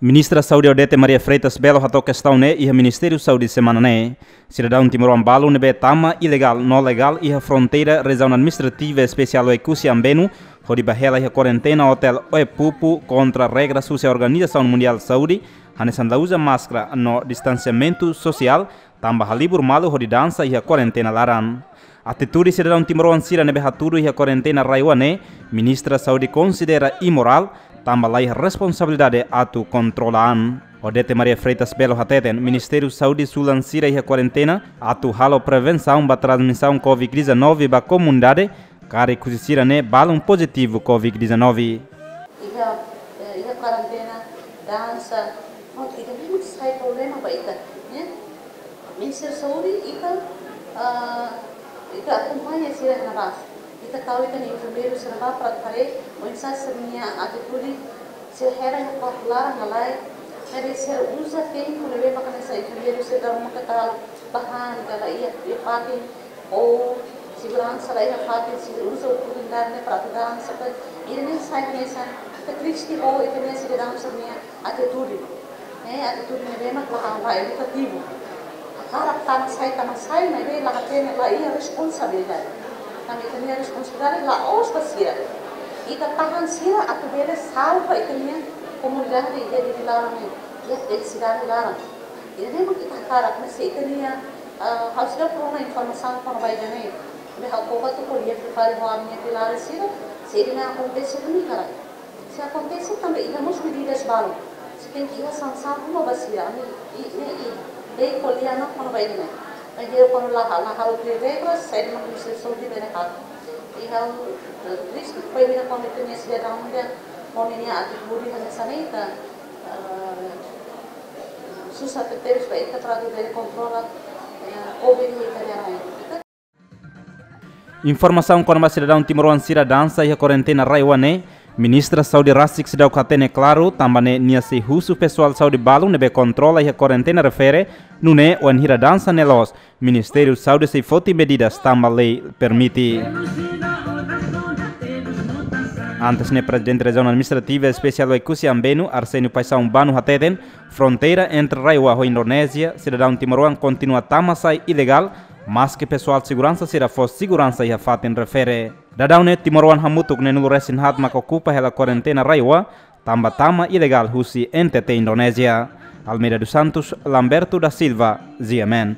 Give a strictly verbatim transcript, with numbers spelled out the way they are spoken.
Ministra Saúde Odete Maria Freitas Belo hato'o kestaun ne'e iha Ministériu Saúde semana ne'e. Sidadaun timoroan balu ne'ebé tama ilegál no legál iha fronteira Rejiaun Administrativa Espesiál Oekusi Ambenu hodi bá hela iha kuarentena hotel Oepupu kontra regras husi Organizasaun Mundiál Saúde, hanesan la uza máskara no distansiamentu sosiál, tanba halibur malu hodi dansa iha kuarentena laran. Atitude sidadaun timoroan sira ne'ebé hatudu iha kuarentena RAEOA ne'e, Ministra Saúde konsidera imorál, tanba laiha responsabilidade atu kontrola an. Odete Maria Freitas Belo hateten, Ministériu Saúde sulan sira iha kuarentena atu halo prevensaun ba transmisaun covid dezanove ba komunidade, karik husi sira ne'e balun pozitivu covid dezanove. Iha, eh, iha kuarentena, dansa, prontu, ita mesmu sai problema ba ita, ya. Ministériu Saúde, ita, ah, ita akompaña sira iha ne'ebá. Ita tau ita-nia enfermeiru sira ne'ebá para haree oinsá sira-nia atitude, sira hela iha kuartu laran ka lae. Maibé sira uza tempu ne'ebé maka hanesan enfermeiru sira dala ruma karik la bá han ka la iha, iha fatin, ou seguransa la iha fatin, sira uza oportunidade ne'e para atu dansa, para ida-ne'e sai hanesan, ita triste ho ita-nia sidadaun sira-nia atitude. Eh, atitude ne'ebé mak la, la edukativu. Hakarak tama sai, tama sai, maibé la hatene, la iha responsabilidade. Tanba ita-nia responsabilidade la'ós ba sira. Ita tahan sira atu bele salva ita-nia komunidade iha Dili laran ne'e, iha sidade laran. Ida-ne'e mak ita hakarak, mas se ita-nia, ah, ha'u seidauk rona informasaun kona-ba ida-ne'e. Maibé ha'u koko atu ko'alia fali ho ami-nia pilares sira, se ida-ne'e akontese duni karik. Se akontese tanba iha mós medidas balu. Se tenke iha sansaun ruma ba sira, ami, i, ne'e, i, lei ko'alia ona kona-ba ida-ne'e. Maibé kuandu la, la halo tuir regras, saida mak Ministériu Saúde bele halo. I ha'u, eh, triste, foin ida kuandu ita-nia sidadaun ida, ho ninia atitude hanesan ne'e ita, eh, susar tebes ba ita para atu bele kontrola, eh, covid iha ita-nia rai. Informasaun kona-ba sidadaun timoroan sira dansa iha kuarentena RAEOA ne'e, Ministra Saúde rasik seidauk hatene klaru, tanba ne'e nia sei husu pesoál saúde balu ne'ebé kontrola iha kuarentena refere, nune'e wainhira dansa ne'e loos, Ministériu Saúde sei foti medidas tanba lei permite. Antes ne'e, Prezidente Rejiaun Administrativa Espesiál Oekusi Ambenu, Arsénio Paixão Bano hateten, fronteira entre RAEOA ho Indonézia, sidadaun timoroan kontinua tama sai ilegál, maske pesoál seguransa sira fó seguransa iha fatin refere. Daudaun ne'e timoroan hamutuk neenulu resin haat maka okupa hela kuarentena RAEOA, tanba tama ilegál husi N T T Indonézia. Almeida dos Santos, Lamberto da Silva, G M N.